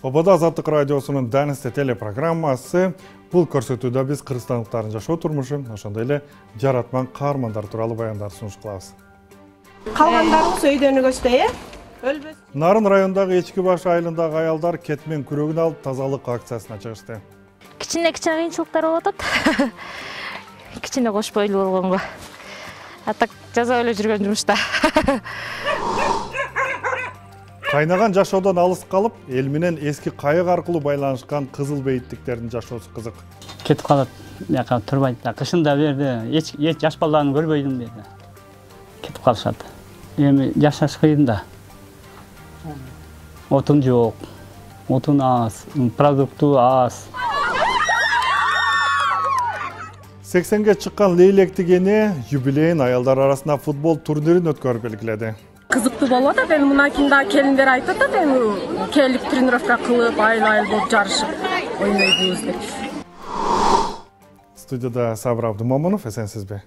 Обода Азаттык радиосунун Данисте телепрограммасы. Бул көрсөтүүдө биз кыргызстандыктардын жашоо турмушу, ошондой эле жаратман каармандар тууралуу баяндар сунуш кылабыз. Калгандарыбыз өйдөн өгөчтөй, Нарын районундагы Эчки баш айылындагы аялдар кетмен күрөгүн алып тазалык акциясына чыгышты. Кичине кыйынчылыктар болуп атат. Кичине кош бойлуу болгонго. А так жаза эле жүргөн жумушта. Кайнаган жашоодон алыс калып, эл менен эски кайык аркылуу байланышкан кызыл бейиттиктердин жашоосу кызык. Кетип калат, яка турбайт да. Кышында берди, эч жаш балдарын көрбөйдүм берди. Кетип калышат. Эми жашаш кыйын да. Отун жок, отун аз, продукту аз. 80ге чыккан Лейлектик эне юбилейин аялдар арасында футбол турнирин өткөрүп белгиледи. кызыктуу болуп атат. Эми мына кийин келиндер айтып атат, эми келип тренировка кылып, айыл болуп жарышып ойнойбуз деп. Студияда Сабыр Абдымомунов, эсенсизби?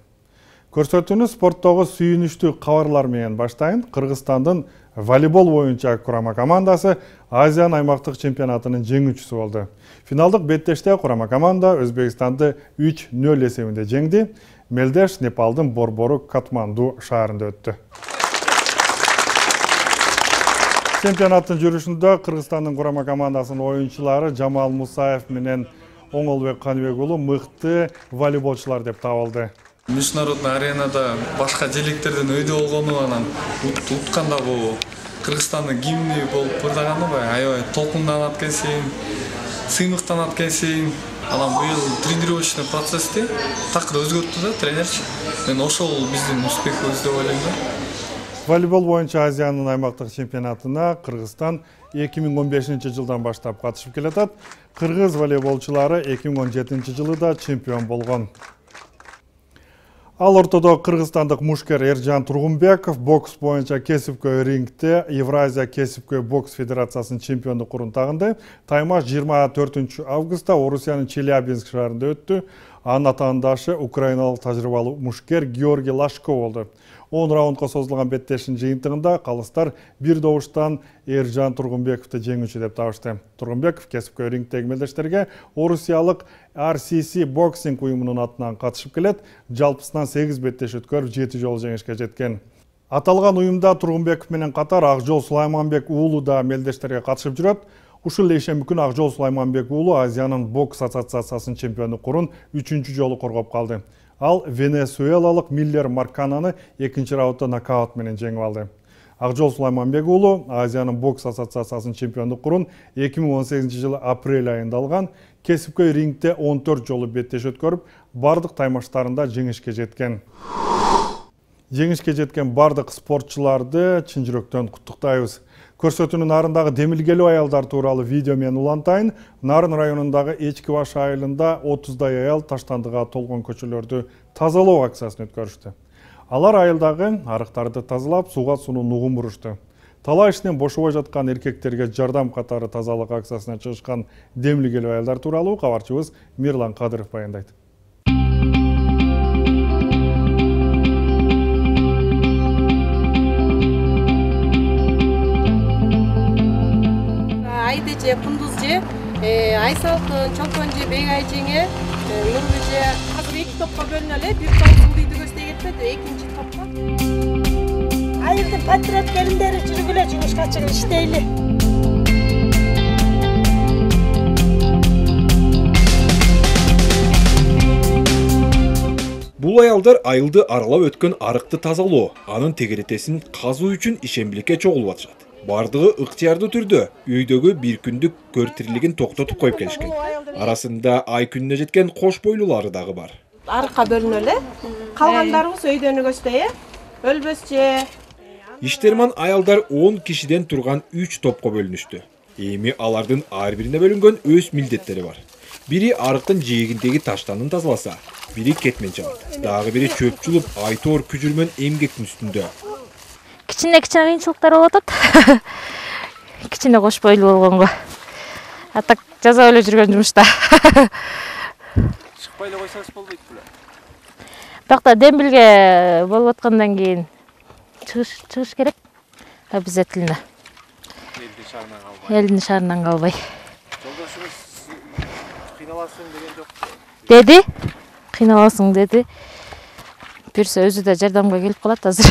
Көрсөтүүнү спорттогу сүйүнүчтүү кабарлар менен баштайын. Кыргызстандын волейбол боюнча курама командасы Азиянын аймактык чемпионатынын жеңүүчүсү болду. Финалдык беттеште курама команда Өзбекстанды 3-0 эсебинде жеңди. Мелдеш Непалдын борбору Катманду шаарында өттү. Чемпионаттын жүрүшүндө Кыргызстандын курама командасынын оюнчулары Жамал Мусаев менен Оңолбек Каныбек уулу мыкты волейболчулар деп табылды. Международный аренада башка желектерден өйдө болгону анан утканда бул Кыргызстандын гимни болуп ырдаганы аябай толкунданат экенсиң, сыймыктанат экенсиң. Анан быйыл тренировочный процессти такыр өзгөрттү да тренерчи. Мен ошол биздин успехибиз деп ойлойм да. Волейбол боюнча Азиянын аймактык чемпионатына Кыргызстан 2015-жылдан баштап катышып келатат. Кыргыз волейболчулары 2017 жылы да чемпион болгон. Ал ортодо кыргызстандык мушкер Эржан Тургунбеков бокс боюнча кесипкөй рингте Евразия кесипкөй бокс федерациясынын чемпиондук тагынды. Таймаш 24 августта Орусиянын Челябинск шаарында өттү. Анын атаандашы украиналык тажрыйбалуу мушкер Георгий Лашко болду. 10 раундга созулган беттештин жыйынтыгында калыстар бир добуштан Эржан Тургунбековду жеңүүчү деп табышты. Тургунбеков кесипкөй рингдеги мелдештерге Орусиялык RCC боксинг уюмунун атынан катышып келет. Жалпысынан 8 беттеш өткөрүп 7 жолу жеңишке жеткен. Аталган уюмда Тургунбеков менен катар Акжол Сулайманбек уулу да мелдештерге катышып жүрөт. Ушул ишемби күнү Акжол Сулайманбек уулу Азиянын бокс ассоциациясынын чемпиондуктун 3-чү жолу коргоп калды. Ал венесуэлалык Миллер Маркананы 2-чи раундда нокаут менен жеңип алды. Акжол Сулайманбек уулу Азиянын бокс ассоциациясынын чемпиондуктун 2018 жылы апрель айында алган. Кесипкөй рингде 14 жолу беттеш өткөрүп, бардык таймаштарында жеңишке жеткен. Жеңишке жеткен бардык спортчуларды чын жүрөктөн куттуктайбыз. Көрсөтүүнүн нарындагы демилгелүү аялдар тууралуу видео менен улантайын. Нарын районундагы Эчки баш айылында 30дай аял таштандыга толгон көчөлөрдү тазалоо акциясын өткөрүштү. Алар айылдагы арыктарды тазалап, сууга сунуу нугун бурушту. Талаа ишинен бошобой жаткан эркектерге жардам катары тазалык акциясына чыгышкан демилгелүү аялдар тууралуу кабарчыбыз Мирлан Кадыров баяндайт. Айдыже, Кундузже, Айсалкын, Чолпонже, Бегай жеңе, Нурбеже азыр 2 топко бөлүнөлү, бир топ сулдуйду көздөй кетпеди, 2-чи топко. Айылдын патриот келиндери жүргүлө жумушка чыгып иштейли. Бул аялдар айылды аралап өткөн арыкты тазалоо, анын тегеретесин казуу үчүн ишембиликке чогулуп атышат. Бардыгы ыктыярдуу түрдө үйдөгү бир күндүк көр тирилигин токтотуп коюп келишкен. Арасында ай күнүнө жеткен кош бойлуулары дагы бар. Арыкка бөлүнөлү. Калгандарыбыз өйдөн өгөчтөй, өлбөсчө. Иштерман аялдар 10 кишиден турган 3 топко бөлүнүштү. Эми алардын ар бирине бөлүнгөн өз милдеттери бар. Бири арыктын жээгиндеги таштанын тазаласа, бири кетмен чабат. Дагы бири чөп чулуп, айтоор күжүрмөн эмгектин үстүндө. Кичине кыйынчылыктар болуп атат. Кичине кош бойлуу болгонго. А так жаза эле жүргөн жумушта. Чыкпай эле койсоңуз болбойт беле? Бирок дембилге болуп аткандан кийин чыгыш керек обязательно. шаарынан калбай. Элдин шаарынан калбай. Жолдошуңуз кыйналасың деген жок. Деди. Кыйналасың деди. Бирсе өзү да жардамга келип калат азыр.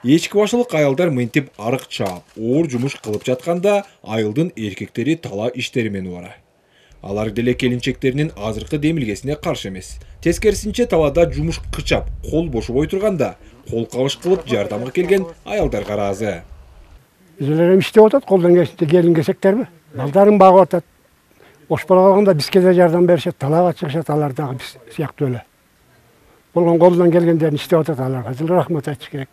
Эчки башылык аялдар мынтип арык чаап, оор жумуш кылып жатканда, айылдын эркектери тала иштери менен убара. Алар деле келинчектеринин азыркы демилгесине каршы эмес. Тескерисинче талада жумуш кычап, кол бошобой турганда, кол кабыш кылып жардамга келген аялдарга ыраазы. Bizler иштеп атат, колдон келин кесектерби? Балдарын багып атат. Бош бала калганда бизге да жардам беришет, талаага чыгышат алар дагы биз сыяктуу эле. Болгон колдон келгендерин иштеп атат аларга. Рахмат айтыш керек.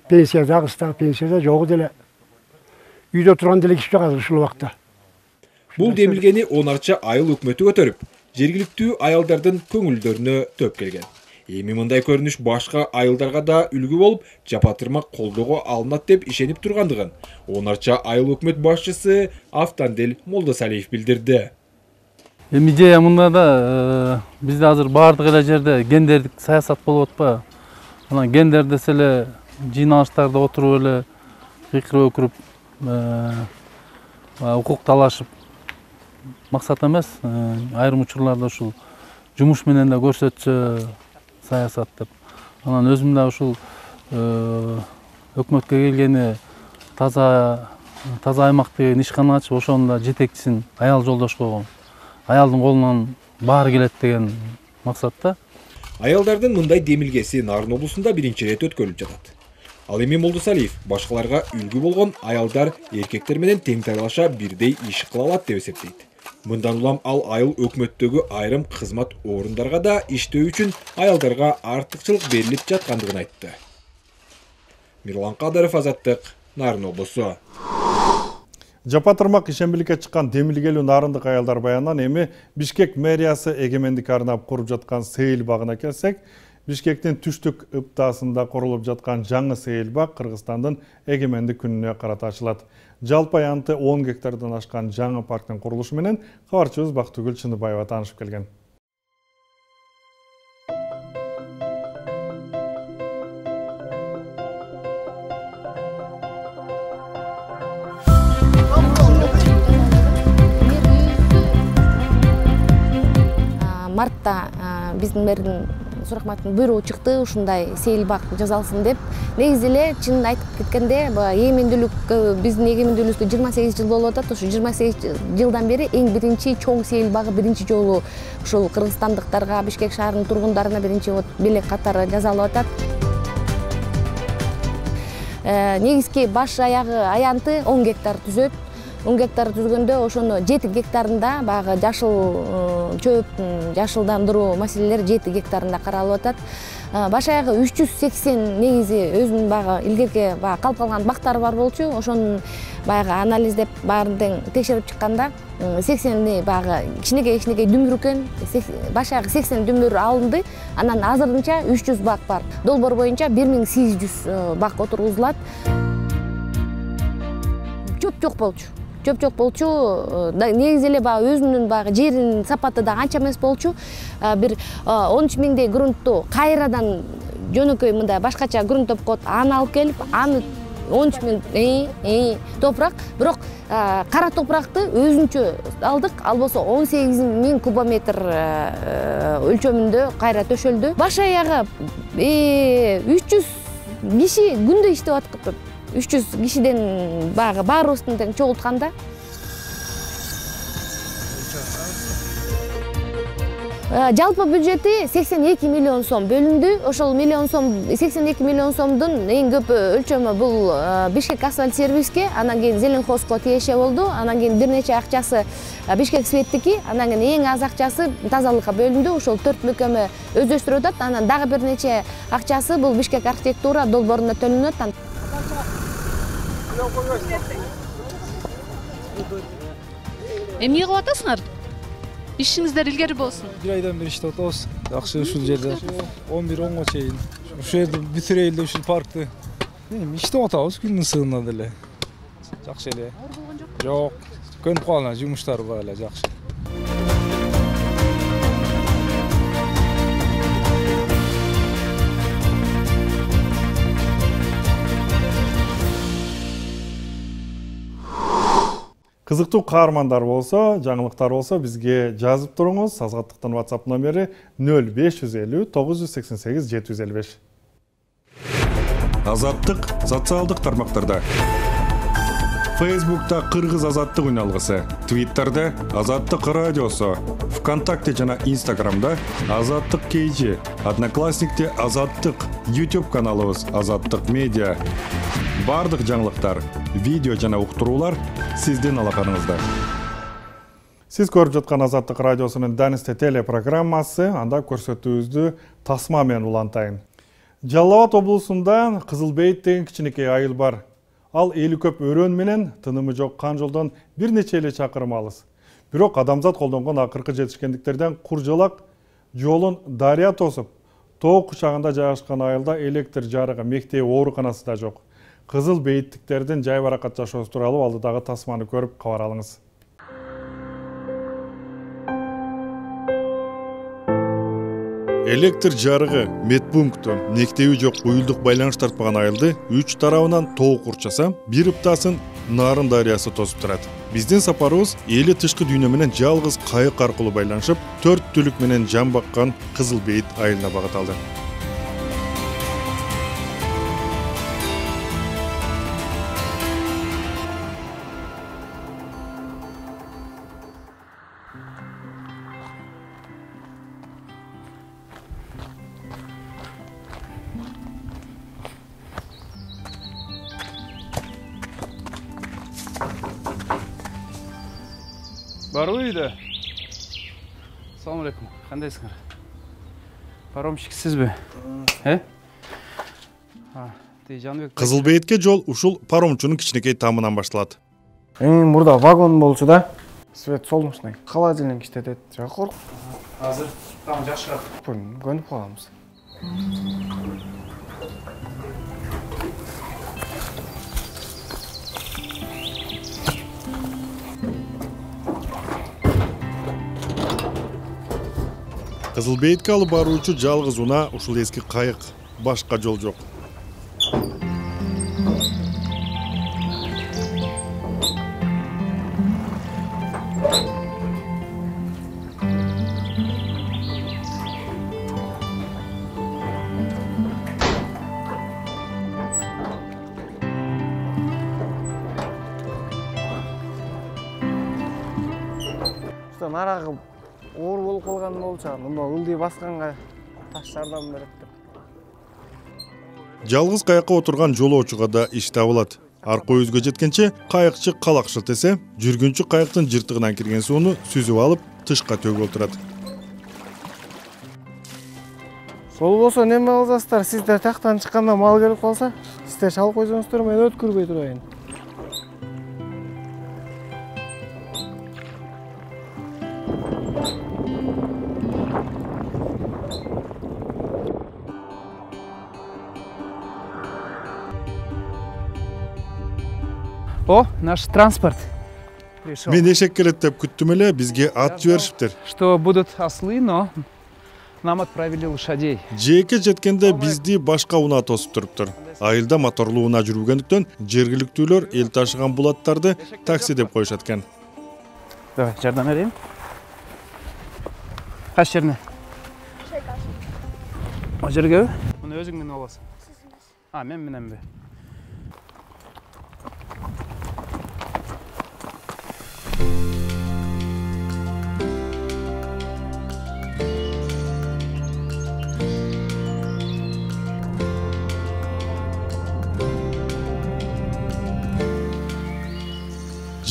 Пенсия дагы ста, пенсия да жок деле. Үйдө турган деле киши жок азыр ушул убакта. Бул демилгени онарча айыл өкмөтү көтөрүп, жергиликтүү аялдардын көңүлдөрүнө төп келген. Эми мындай көрүнүш башка айылдарга да үлгү болуп, жапатырмак колдоого алынат деп ишенип тургандыгын онарча айыл өкмөт башчысы Автандел Молдосалиев билдирди. Эми идея мында да бизде азыр баардык эле жерде гендердик саясат болуп атпайбы? Анан гендер десе эле жыйналыштарда отуруп эле кыйкырып өкүрүп укук талашып максат эмес. Айрым учурларда ушул жумуш менен да көрсөтсө саясат деп. Анан өзүм да ушул өкмөткө келгени таза аймак деген ишкана ачып, ошонун да жетекчисин аял жолдош койгом. Аялдын колунан баары келет деген максатта. Аялдардын мындай демилгеси Нарын облусунда биринчи рет өткөрүлүп жатат. Ал эми Молдосалиев башкаларга үлгү болгон аялдар эркектер менен тең талаша бирдей иш кыла алат деп эсептейт. Мындан улам ал айыл өкмөттөгү айрым кызмат орундарга да иштөө үчүн аялдарга артыкчылык берилип жаткандыгын айтты. Мирлан Кадаров, Азаттык, Нарын облусу. Жапатырмак ишембиликке чыккан демилгелүү нарындык аялдар баянынан эми Бишкек мэриясы эгемендик арнап куруп жаткан сейил багына келсек, Бишкектин түштүк ыптаасында курулуп жаткан жаңы сейил баг Кыргызстандын эгемендик күнүнө карата ачылат. Жалпы аянты 10 гектардан ашкан жаңы парктын курулушу менен кабарчыбыз Бактыгүл Чыныбаева таанышып келген. Мартта биздин мэрдин суракматтын буйругу чыкты, ушундай сейил бак жасалсын деп. Негизи эле чынын айтып кеткенде, эгемендүүлүк биздин эгемендүүлүгүбүзгө 28 жыл болуп атат. Ушу 28 жылдан бери эң биринчи чоң сейил багы биринчи жолу ушул кыргызстандыктарга, Бишкек шаарынын тургундарына биринчи белек катары жасалып атат. Негизги баш аягы аянты 10 гектар түзөт. 10 гектар түзгөндө ошону 7 гектарында багы жашыл чөптүн жашылдандыруу маселелери 7 гектарында каралып атат. Баш аягы 380 негизи өзүнүн багы илгерки калып калган бактары бар болчу. Ошонун баягы анализдеп баарын текшерип чыкканда 80 багы кичинекей дүмүр экен. Баш аягы 80 дүмүр алынды. Анан азырынча 300 бак бар. Долбоор боюнча 1800 бак отургузулат. Чөп жок болчу. Негизи эле өзүнүн жеринин сапаты да анча эмес болчу. Бир 13 миңдей грунтту кайрадан жөнөкөй мындай башкача грунт деп коет, аны алып келип, аны 13 миң топурак, бирок кара топуракты өзүнчө алдык, албосо 18 миң кубометр өлчөмүндө кайра төшөлдү. Баш аягы 300 киши күндө иштеп аткып. 300 кишиден баарыбыздын тең чогултканда жалпы бюджети 82 миллион сом бөлүндү. Ошол 82 миллион сомдун эң көп өлчөмү бул Бишкек асфальт сервиске, анан кийин Зеленхозго тиеше болду. Анан кийин бир нече акчасы Бишкек светтики, анан кийин эң аз акчасы тазалыкка бөлүндү. Ошол 4 мөкөмө өздөштүрүп атат. Анан дагы бир нече акчасы бул Бишкек архитектура долбооруна төлөнөт. Эмне кылып атасыңар? Ишиңиздер илгери болсун. Бир айдан бери иштеп атабыз. Жакшы ушул жерде 11-10га чейин. Ушул жерди бүтүрөйүн деп ушул паркты. Иштеп атабыз күндүн ысыгында деле. Жакшы эле. Жок, көнүп калган жумуштар бар эле, жакшы. Кызыктуу каармандар болсо, жаңылыктар болсо бизге жазып туруңуз. Азаттыктын WhatsApp номери 0550 988 755. Азаттык социалдык тармактарда. Facebook'ta Кыргыз азаттык үналгысы, Twitter'да Азаттык радиосу, ВКонтакте жана Instagram'да Азаттык KG, Одноклассникте Азаттык, YouTube каналыбыз Азаттык медиа. Бардык жаңылыктар, видео жана уктуруулар сиздин алаканыңызда. Сиз көрүп жаткан Азаттык радиосунун Данисте телепрограммасы, анда көрсөтүүбүздү тасма менен улантайын. Жалал Абад облусунда Кызылбейит деген кичинекей айыл бар. Ал эли көп өрөн менен тынымы жок кан жолдон бир нече эле чакырым алыс. Бирок адамзат колдонгон акыркы жетишкендиктерден куржалак жолун дарыя тосуп, тоо кучагында жайгашкан айылда электр жарыгы, мектеп, ооруканасы да жок. Кызылбейиттиктердин жай баракат жашоосу тууралуу алдыдагы тасманы көрүп кабар алыңыз. Электр жарыгы, медпункту, мектеби жок уюлдук байланыш тартпаган айылды 3 тарабынан тоо курчаса, бир ыптасын Нарын дарыясы тосуп турат. Биздин сапарыбыз эли тышкы дүйнө менен жалгыз кайык аркылуу байланышып, 4 түлүк менен жан баккан Кызылбейит айылына багыт алды. Барбы үйдө? Assalamu alaikum. Кандайсыңар? Паромщик сизби? Кызылбейитке жол ушул паромчунун кичинекей тамынан башталат. Мурда вагон болчу да. Свет солнечный. Холодильник иштетет. Жакыр. Азыр там жакшыраак. Көнүп калабыз. Кызылбейитке алып баруучу жалгыз унаа ушул эски кайык, башка жол жок. Нарагы оор болуп калган болчу, мында ылдый басканга таш жардам берет деп. Жалгыз кайыкка отурган жолоочуга да иш табылат. Арка өзгө жеткенче кайыкчы калак шылтесе, жүргүнчү кайыктын жыртыгынан кирген сууну сүзүп алып, тышка төгүп отурат. Сол болсо неме кыласыздар? Сиздер тактан чыкканда мал келип калса, сиздер чалып койсоңуздар, мен өткүрбөй турайын. О, наш транспорт. Мен эшек келет деп күттүм эле, бизге ат жиберишиптир. Что будут ослы, но нам отправили лошадей. Жээкке жеткенде бизди башка унаа тосуп туруптур. Айылда моторлуу унаа жүрбөгөндүктөн жергиликтүүлөр эл ташыган булаттарды такси деп коюшат экен. Давай, жардам берейин. Кайсы жерине? О жерге? Муну өзүң менен аласың. Мен мененби?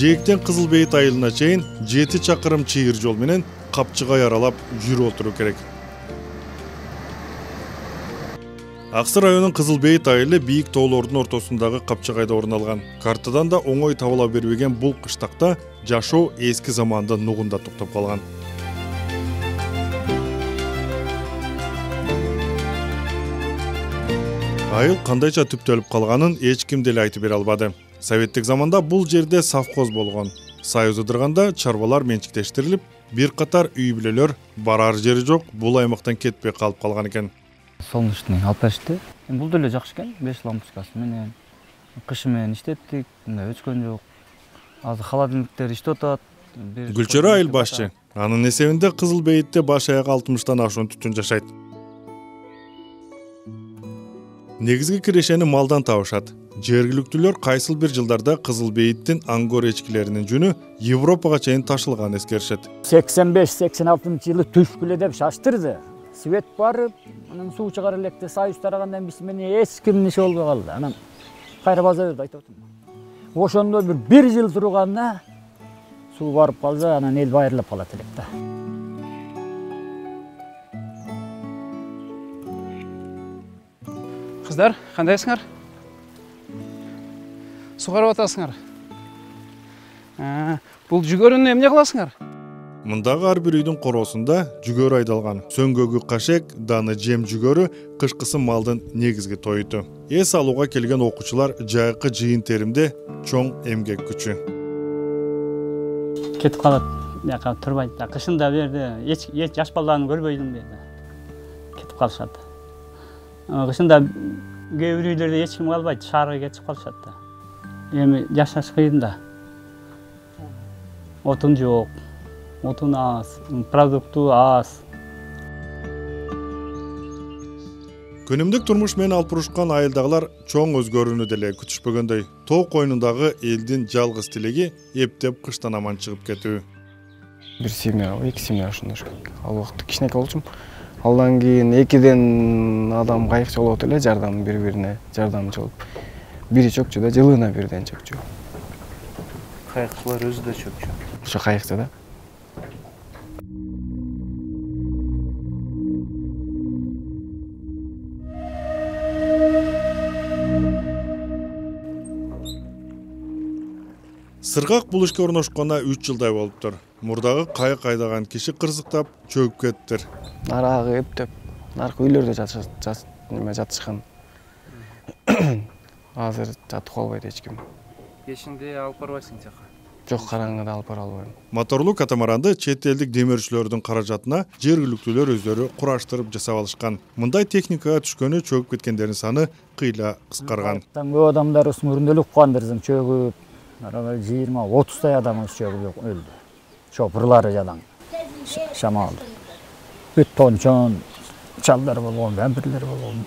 Жээктен Кызылбейит айылына чейин 7 чакырым чыйыр жол менен Капчыгай аралап жүрүп отуруу керек. Аксы районунун Кызылбейит айылы бийик тоолордун ортосундагы Капчыгайда орун алган. Картадан да оңой табыла бербеген бул кыштакта жашоо эски заманда нугунда токтоп калган. Айыл кандайча түптөлүп калганын эч ким деле айтып бере албады. Советтик заманда бул жерде совхоз болгон. Союз ыдырганда чарбалар менчиктештирилип, бир катар үй бүлөлөр барар жери жок бул аймактан кетпей калып калган экен. Солнечный алып беришти. Бул деле жакшы экен, 5 лампочкасы менен. Кышы менен иштеттик, мындай өчкөн жок. азыр холодильниктер иштеп атат. Гүлчөрө айыл башчы. Анын эсебинде Кызыл Бейитте баш аяк 60тан ашуун түтүн жашайт. Негизги кирешени малдан табышат. Жергиликтүүлөр кайсыл бир жылдарда Кызыл Бейиттин аңгор эчкилеринин жүнү Европага чейин ташылганын эскеришет. 85-86 жылы түшкүлө деп шаштырды. Свет барып, анан суу чыгар электе Союз тарагандан биз менен эч кимдин иши болбой калды. Анан кайра база берди айтып атам. Ошондо бир жыл турганда суу барып калса, анан эл байырлап калат элек да. Кыздар, кандайсыңар? Суу карап атасыңар? Бул жүгөрүнү эмне кыласыңар? Мындагы ар бир үйдүн короосунда жүгөрү айдалган. Сөңгөгү кашек, даны жем жүгөрү кышкысы малдын негизги тоюту. Эс алууга келген окуучулар жайкы жыйын теримде чоң эмгек күчү. Кетип калат, жака турбайт да. Кышында берди, эч жаш балдарын көрбөйдүм дейди. Кетип калышат. Кышында кээ бир үйлөрдө эч ким калбайт, шаарга кетип калышат да. Эми жашаш кыйын да. Отун жок. Отун аз, продукту аз. Күнүмдүк турмуш менен алып урушкан айылдагылар чоң өзгөрүүнү деле күтүшпөгөндөй. Тоо койнундагы элдин жалгыз тилеги эптеп кыштан аман чыгып кетүү. Бир семья, эки семья ушундай. Ал убакта кичинекей болчумун. Алдан кийин экиден адам кайыкчы болот эле, жардам бири-бирине жардамчы болуп. Бири чөкчү да, жылына бирден чөкчү. Кайыкчылар өзү да чөкчү. Ошо кайыкчы да. Сыргак бул ишке орношконуна 3 жылдай болуптур. Мурдагы кайык айдаган киши кырсыктап чөгүп кеттир. Нарагы эптеп, наркы үйлөрдө жатышкан. Азыр жатып калбайт эч ким. Кешинде алып барбайсың жака? Жок, караңгыда алып бара албайм. Моторлуу катамаранды чет элдик демирчилердин каражатына жергиликтүүлөр өздөрү кураштырып жасап алышкан. Мындай техникага түшкөнү чөгүп кеткендердин саны кыйла кыскарган. Көп адамдар мүрүндөлүк кылгандырсың, чөгүп, 20-30 адам чөгүп өлдү. Шопурлары жадан шамалды. Бүт тончон, чалдар болгон, вампирлер болгон.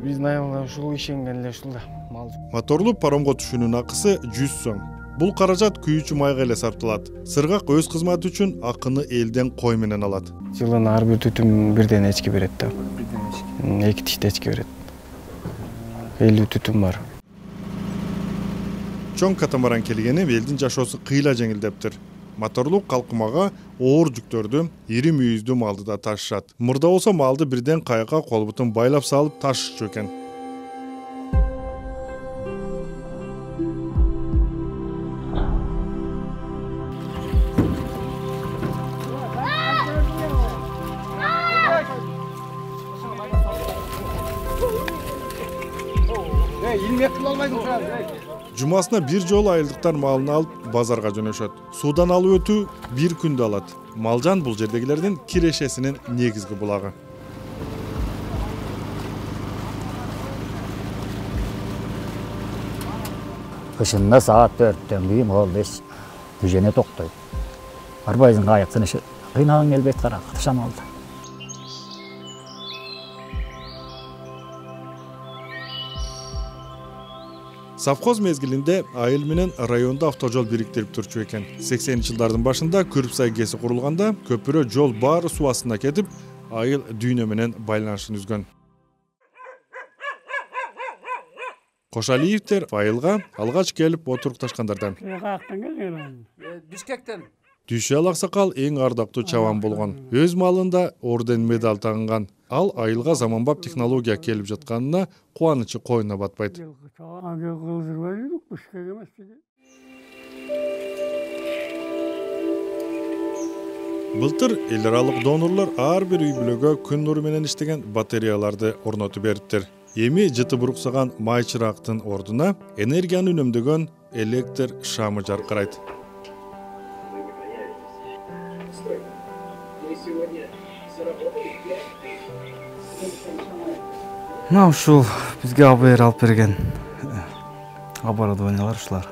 Биздин айылда ушул ишенген эле ушул да. Моторлуу паромго түшүүнүн акысы 100 сом. Бул каражат күйүүчү майга эле сарпталат. Сыргак өз кызматы үчүн акыны элден кой менен алат. Жылына ар бир түтүн бирден эчки берет да. Эки тиште эчки берет. 50 түтүн бар. Чоң катамаран келгени элдин жашоосу кыйла жеңилдептир. Моторлуу калкымага оор жүктөрдү, ири мүйүздүү малды да ташышат. Мурда болсо малды бирден кайыкка колбутун байлап салып ташышчу экен. Жумасына бир жолу айылдыктар малын алып базарга жөнөшөт. Суудан алып өтүү бир күндө алат. Малжан бул жердегилердин кирешесинин негизги булагы. Кышында саат 4-төн кийин болду, күжене токтойт. Арбайдын кайыктын иши кыйнаган келбейт караңгы шамалда. Совхоз мезгилинде айыл менен райондо автожол бириктирип турчу экен. 80-жылдардын башында Күрүпсай КЭСи курулганда көпүрө жол баары суу астына кетип, айыл дүйнө менен байланышын үзгөн. Кошалиевдер айылга алгач келип отурукташкандардан. Бишкектен. Дүйшөл аксакал эң ардактуу чабан болгон. Өз малында орден медаль тагынган. Ал айылга заманбап технология келип жатканына кубанычы койнуна батпайт. Былтыр эл аралык донорлор ар бир үй бүлөгө күн нуру менен иштеген батареяларды орнотуп бериптир. Эми жыты буруксаган май чырактын ордуна энергияны үнөмдөгөн электр шамы жаркырайт. Мына ушул бизге АБР алып берген оборудованиялар ушулар.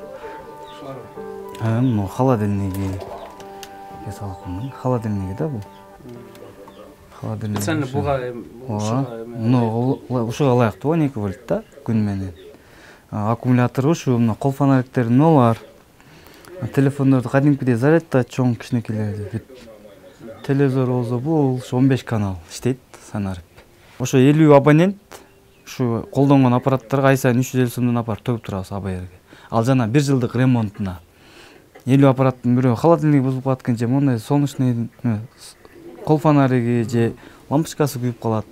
Мына холодильниги. Холодильниги да бул. Холодильник. Сен буга ушуга ылайыктуу 12 вольт да күн менен. Аккумулятор ушу, мына кол фонариктердин бар. Телефондорду кадимкидей зарядта чоң кичинекейлерди. Телевизор болсо бул 15 канал иштейт санарып. Ошо 50 абонент ушу колдонгон аппараттарга ай сайын 350 сомдон апарып төгүп турабыз АБРге. Ал жана 1 жылдык ремонтуна. 50 аппараттын бирөө холодильник бузулуп калат же мондай солнечный кол фонариги же лампочкасы күйүп калат.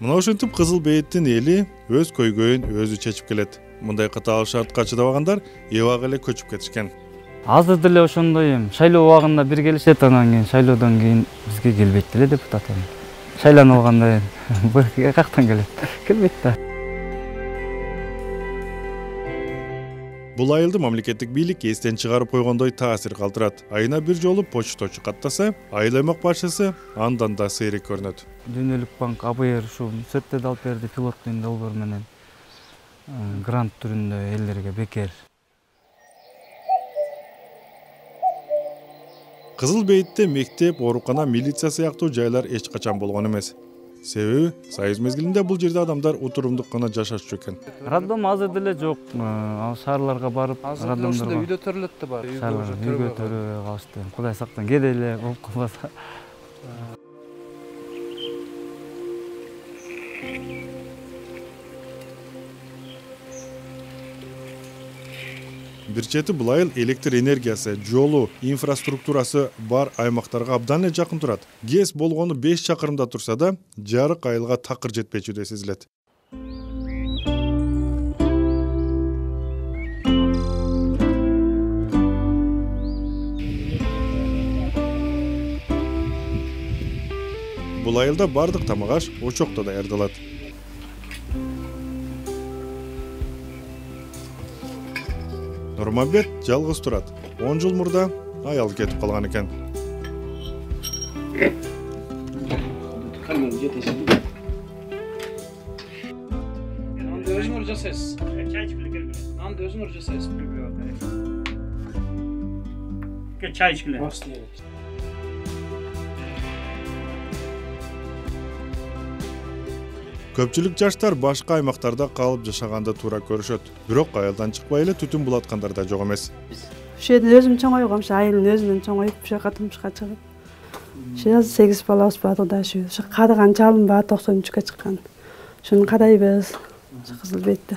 Мына ушинтип Кызыл Бейиттин эли өз көйгөйүн өзү чечип келет. Мындай катаал шартка чыдабагандар эбак эле көчүп кетишкен. Азыр деле ошондой шайлоо убагында бир келишет, анан кийин шайлоодон кийин бизге келбейт деле депутат. Шайланып алганда бизге кактан келет? Келбейт да. Бул айылды мамлекеттик бийлик эстен чыгарып койгондой таасир калтырат. Айына бир жолу почточу каттаса, айыл аймак башчысы андан да сейрек көрүнөт. Дүйнөлүк банк АБР ушу сөттөдө алып берди пилоттуу долбоор менен грант түрүндө элдерге бекер. Кызыл Бейитте мектеп, оорукана, милиция сыяктуу жайлар эч качан болгон эмес. Себеби союз мезгилинде бул жерде адамдар утурумдук гана жашашчу экен. Роддом азыр деле жок. Шаарларга барып, роддомдорго үйдө төрөлөт да бар. Үйгө төрөбөй калышты. Кудай сактан кээде эле болуп калбаса. Бир чети бул айыл электр энергиясы, жолу, инфраструктурасы бар аймактарга абдан эле жакын турат. ГЭС болгону 5 чакырымда турса да, жарык айылга такыр жетпечүдөй сезилет. Бул айылда бардык тамак аш очокто даярдалат. Нурмамбет жалгыз турат. 10 жыл мурда аялы кетип калган экен. Нанды өзүңөр жасайсыз. Нанды өзүңөр жасайсыз. Чай ичкиле. Көпчүлүк жаштар башка аймактарда калып жашаганды туура көрүшөт. Бирок айылдан чыкпай эле түтүн булаткандар да жок эмес. Ушул жерден өзүм чоңойгом, айылдын өзүнөн чоңоюп, ушул жака турмушка чыгып. Ушул 8 балабыз бар да, ушул кадыган чалым бар 93-кө чыккан. Шуну карайбыз. Кызыл Бейитте.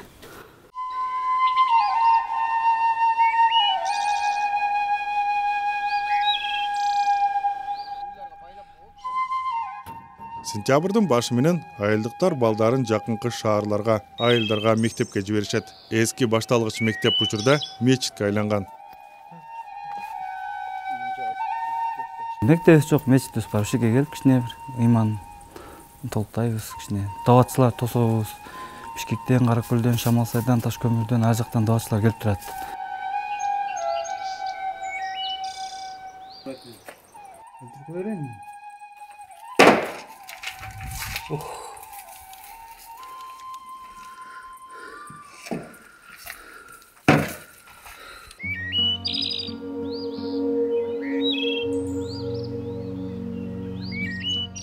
Сентябрдын башы менен айылдыктар балдарын жакынкы шаарларга, айылдарга мектепке жиберишет. Эски башталгыч мектеп учурда мечитке айланган. Мектебибиз жок, мечитибиз бар. Ушул жерге келип кичине бир ыйман толуктайбыз, кичине даватчылар тособуз. Бишкектен, Каракөлдөн, Шамалсайдан, Ташкөмүрдөн ар жактан даватчылар келип турат.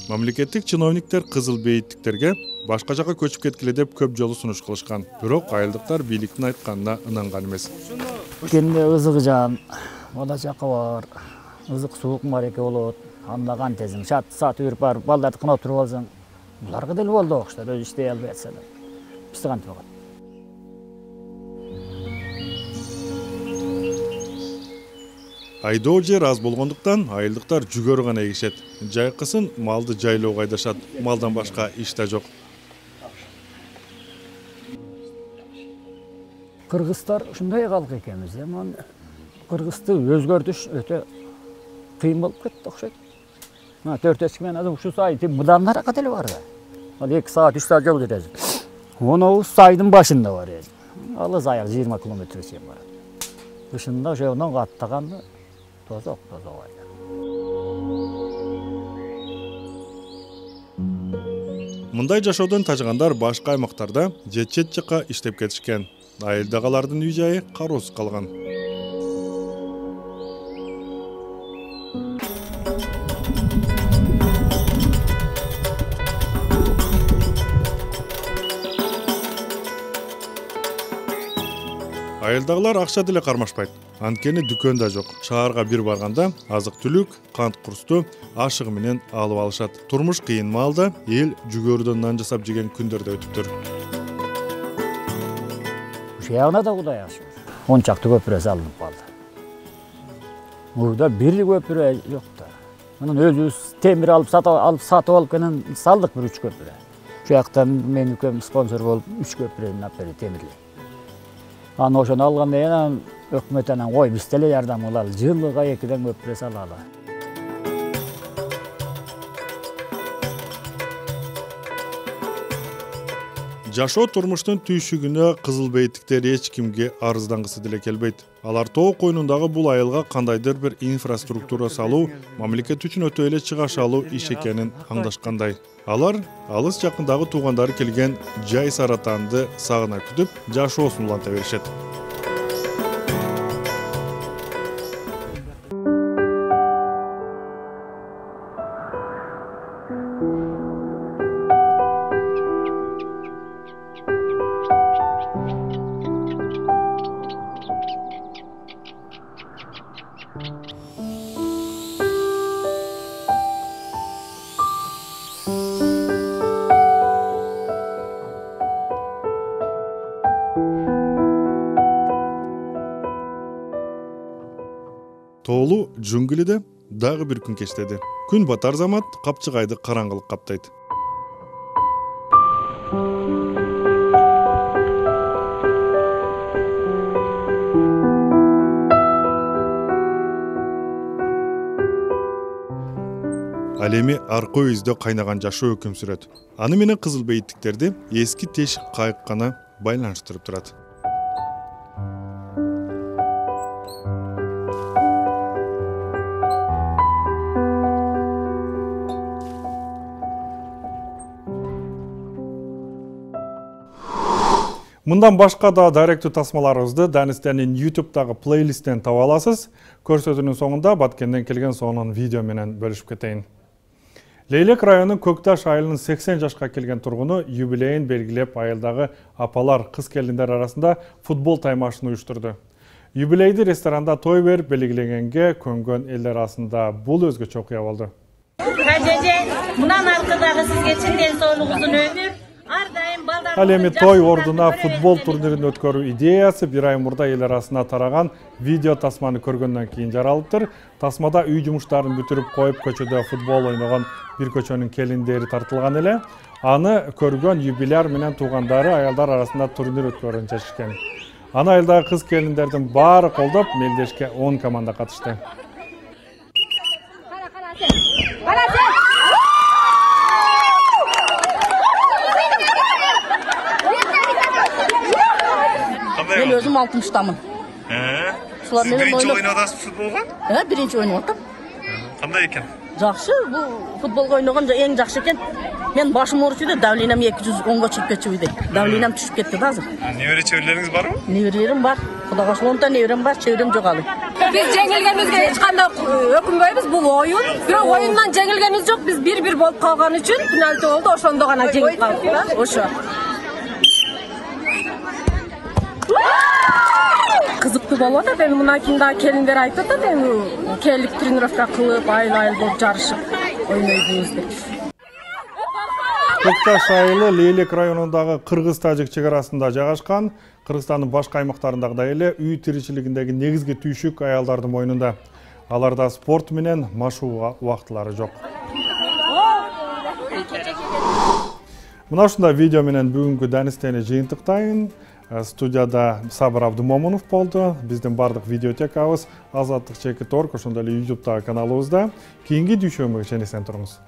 Мамлекеттик чиновниктер Кызыл Бейиттиктерге башка жака көчүп кеткиле деп көп жолу сунуш кылышкан. Бирок айылдыктар бийликтин айтканына ынанган эмес. Кенде ызыгы жан, ода жакы бар. Ызык суук мареке болот. Анда кантесиң, шат саат үрүп барып, балдарды кынап туруп алсаң, Буларга деле болду окшоштор, өзү иштей албай атса да. Бизде кантип болгон? Айдоо жер аз болгондуктан айылдыктар жүгөрү гана эгишет. Жайкысын малды жайлоого айдашат. Малдан башка иш да жок. Кыргыздар ушундай калк экенбиз. Кыргызды өзгөртүш өтө кыйын болуп кетти окшойт. 4 эсик менен азыр ушу сай мындан наракка деле бар да. Ал 2 саат 3 саат жол жүрөт. Оны сайдын башында бар эди. Алыс аяк 20 км чейин барат. Кышында ошондон каттаганда тозок айда. Мындай жашоодон тажыгандар башка аймактарда чет жакка иштеп кетишкен. Айылдагылардын үй жайы кароосуз калган. Айылдагылар акча деле кармашпайт. Анткени дүкөн да жок. Шаарга бир барганда азык-түлүк, кант курсту ашыгы менен алып алышат. Турмуш кыйын маалда эл жүгөрүдөн нан жасап жеген күндөр да өтүптүр. Ушул ягына да Кудай ашыгы. 10 чакты көпүрө салынып калды. Мурда бир көпүрө жок да. Мунун өзүбүз темир алып сатып алып кенен салдык бир 3 көпүрө. Ушул жактан менин үкөм спонсор болуп 3 көпүрөнү алып берди темирлей. Аны ошону алгандан кийин өкмөт анан кой биз деле жардам кылалы, жылыга 2ден көпүрө салалы. Жашоо турмуштун түйшүгүнө кызыл бейиттиктер эч кимге арыздангысы деле келбейт. Алар тоо койнундагы бул айылга кандайдыр бир инфраструктура салуу мамлекет үчүн өтө эле чыгашалуу иш экенин аңдашкандай. Алар алыс жакындагы туугандары келген жай саратанды сагына күтүп, жашоосун уланта беришет. Тоолуу жөнгүлүдө дагы бир күн кечтеди. Күн батар замат Капчыгайды караңгылык каптайт. Ал эми аркы өйүздө кайнаган жашоо өкүм сүрөт. Аны менен кызыл бейиттиктерди эски тешик кайык гана байланыштырып турат. Мындан башка да даректүү тасмаларыбызды Данистенин YouTube'дагы плейлисттен таба аласыз. Көрсөтүүнүн соңунда Баткенден келген сонун видео менен бөлүшүп кетейин. Лейлек районунун Көкташ айылынын 80 жашка келген тургуну юбилейин белгилеп айылдагы апалар, кыз келиндер арасында футбол таймашын уюштурду. Юбилейди ресторанда той берип белгиленгенге көнгөн элдер арасында бул өзгөчө окуя болду. Кажеже, мындан аркадагы сизге чын ден соолугуңузун өмүр. Ал эми той ордуна футбол турнирин өткөрүү идеясы бир ай мурда эл арасына тараган видео тасманы көргөндөн кийин жаралыптыр. Тасмада үй жумуштарын бүтүрүп коюп көчөдө футбол ойногон бир көчөнүн келиндери тартылган эле. Аны көргөн юбиляр менен туугандары аялдар арасында турнир өткөрүүнү чечишкен. Аны айылдагы кыз келиндердин баары колдоп, мелдешке 10 команда катышты. Мен өзüm 60'tamın. Siz birinci oynadasınız futbolga? Birinci oynadım. Qanday ekan? Жақсы, бұл футболға ойнаған ең жақсы екен. Мен башым ауырып еді, давлениям 210-ға шығып кетіп еді. Давлениям түсіп кетті да азыр. Небере чеберлеріңіз бар ма? Неберелерім бар. Құдайға шүкір, 10 та неберем бар, чеберем жоқ әлі. Biz жеңілгенімізге ешқандай өкінбейміз, бұл ойын. Бірақ ойыннан жеңілгеніміз жоқ, біз 1-1 болып қалған үшін пенальти болды, ошондо ғана жеңіп қалдық да. Ошо. Қызықты болуп атат. Эми мына кимда келиндер айтып атат, эми келип тренировка кылып, айыл-айыл болуп жарышып ойнойбуз деп. Көк Таш айылы Лейлек районундагы кыргыз-тажик чек арасында жайгашкан. Кыргызстандын башка аймактарындагыдай эле үй тиричилигиндеги негизги түйшүк аялдардын мойнунда. Аларда спорт менен машуу убактылары жок. Мына ушундай видео менен бүгүнкү Данистени жыйынтыктайын. Студияда Сабыр Абдумомунов болду. Биздин бардык видеотекабыз Азаттык Чекит.org, ошондой эле YouTube'дагы каналыбызда. Кийинки дүйшөмбүгө чейин эсен туруңуз.